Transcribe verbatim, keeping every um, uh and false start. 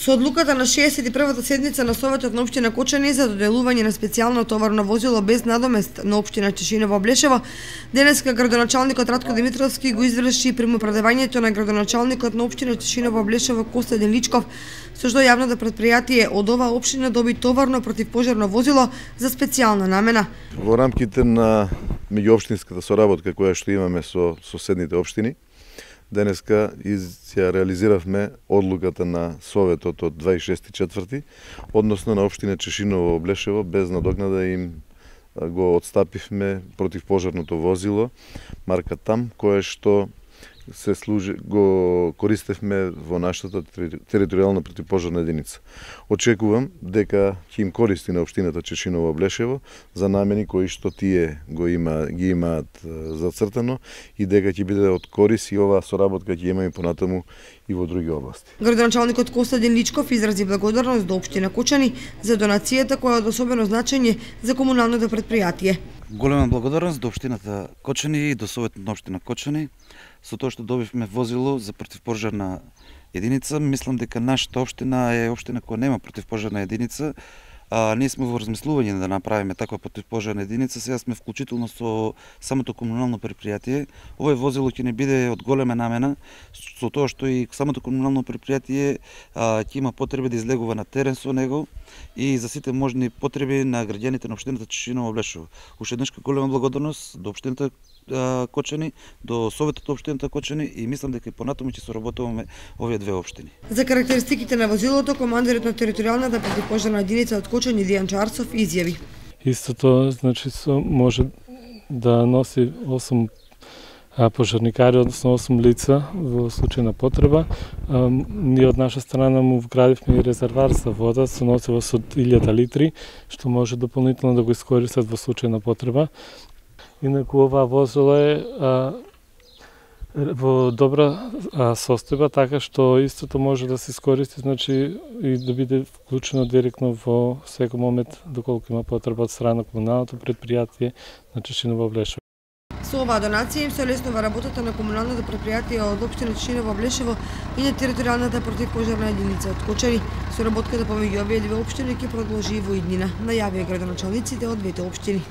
Со одлуката на шеесет и првата седница на Советот на општина Кочани за доделување на специјално товарно возило без надомест на општина Тишиново-Облешево, денеска градоначалникот Радко Димитровски го изврши примопредавањето на градоначалникот на општина Тишиново-Облешево Костадин Личков, со што јавното предпријатие од оваа општина доби товарно противпожарно возило за специјална намена. Во рамките на меѓуопштинската соработка која што имаме со соседните општини, денеска ја реализиравме одлуката на Советот од дваесет и шести четврти, односно на општина Тишиново-Облешево, без надокнада им го отстапивме противпожарното возило марка ТАМ, кое што се служи, го користевме во нашата територијална противпожарна единица. Очекувам дека ќе им користи на општината Тишиново-Облешево за намени кои што тие го има, ги имаат зацртано и дека ќе биде од корис и оваа соработка ќе имаме понатаму и во други области. Градоначалникот Костадин Личков изрази благодарност до општина Кочани за донацијата која е од особено значење за комуналното предпријатие. Голема благодарност до општината Кочани и до Советот на општина Кочани со тоа што добивме возило за противпожарна единица. Мислам дека нашата општина е општина која нема противпожарна единица. А, ние сме во размислување да направиме таква противпожарна единица. Сега сме вклучително со самото комунално предпријатие. Овој возило ќе не биде од голема намена, со тоа што и самото комунално предпријатие а, ќе има потреби да излегува на терен со него и за сите можни потреби на граѓаните на општината Тишиново-Облешево. Уште еднаш голема благодарност до општината Кочани, до Советот на општината Кочани и мислам дека и понатаму ќе соработуваме овие две општини. За карактеристиките на возилото, командирот на територијалната противпожарна единица од Кочани Дијан Чарцов изјави: Истото, значи, може да носи осум пожарникари, односно осум лица во случај на потреба. Ние од наша страна му вградивме и резервар за вода со носиво со илјада литри, што може дополнително да го искористат во случај на потреба. Инаку ова возило е а, во добра а, состојба, така што истото може да се искористи, значи и да биде вклучено директно во секој момент доколку има потреба од страна на комуналното предпријатие на Тишиново-Облешево. Со оваа донација им се олеснува работата на комуналното предпријатие од општина Тишиново-Облешево и на територијалната противпожарна единица од Кочани. Соработката помеѓу овие две општини ќе продолжи и во иднина, најавија градоначалниците од двете општини.